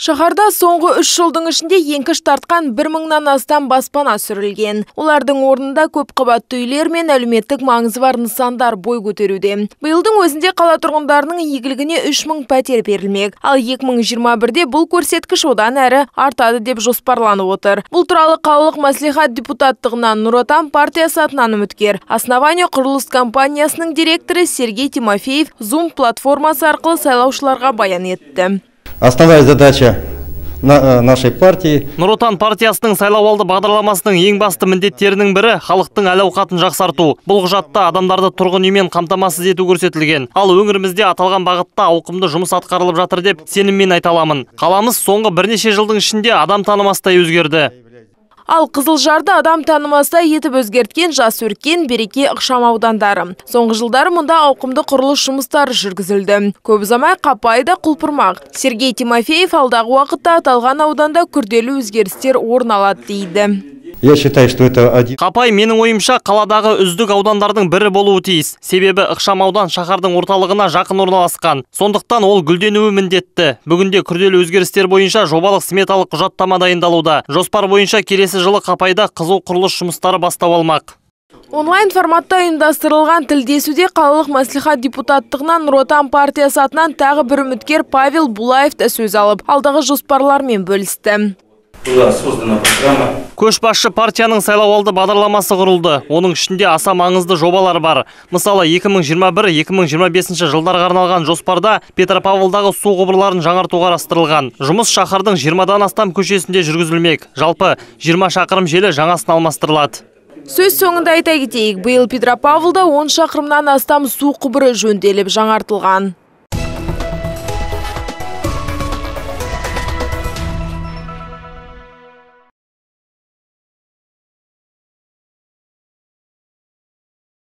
Шаһарда соңғы 3 жылдың ішінде еңкіш тартқан 1000-нан астам баспана сүрілген. Олардың орнында көп қабатты үйлер мен әлеуметтік маңызы бар нысандар бой көтеруде. Биылдың өзінде қала тұрғындарының игілігіне 3000 пәтер берілмек. Ал 2021-де бұл көрсеткіш одан әрі артады деп жоспарланып отыр. Бұл туралы қалалық мәслихат депутаттығынан Нұр Отан партиясы атынан үміткер Основание құрылыс компаниясының директоры Сергей Тимофеев Zoom платформасы арқылы сайлаушыларға баян етті. Основная задача нашей партии. Нұр Отан партиясының сайлауалды бағдарламасының ең басты міндеттерінің бірі халықтың әл-ауқатын жақсарту. Бұл құжатта адамдарды тұрғын үймен қамтамасыз ету көрсетілген. Ал өңірімізде аталған бағытта ауқымды жұмыс атқарылып жатыр деп сеніммен айта аламын. Қаламыз соңғы бірнеше жылдың ішінде адам танымастай өзгерді. Ал Қызылжарды адам танымастай етіп өзгерткен Жас Өркен, Береке ықшам аудандары. Соңғы жылдары мұнда ауқымды құрылыс жұмыстары жүргізілді. Көп ұзамай Қапай да құлпырмақ. Сергей Тимофеев алдағы уақытта аталған ауданда күрделі өзгерістер орын алады дейді. Я считаю, что это один. Қапай менің ойымша қаладағы үздік аудандардың бірі болуы тиіс. Себебі ықшам аудан шаһардың орталығына жақын орналасқан. Сондықтан ол гүлденуі міндетті. Бүгінде күрделі өзгерістер бойынша жобалық сметалық құжаттама дайындалуда. Жоспар бойынша келесі жылы Қапайда қызу құрылыс жұмыстары бастау алмақ. Онлайн форматта ұйымдастырылған тілдесуде қалалық мәслихат депутаттығынан Нұр Отан партиясы атынан тағы бір үміткер Павел Булаев та сөз алып, алдағы жоспарлармен бөлісті. Көшбасшы партияның сайлауалды бағдарламасы құрылды. Оның ішінде аса маңызды жобалар бар. Мысалы, 2021-2025 жылдарға арналған жоспарда Петропавлдағы су құбырларын жаңарту қарастырылған. Жұмыс шаһардың 20-дан астам көшесінде жүргізілмек. Жалпы 20 шақырым желі жаңасын алмастырылады. Сөз соңында айта кетейік, биыл Петропавлда 10 шақырымнан астам су құбыры жөнделіп жаңартылған.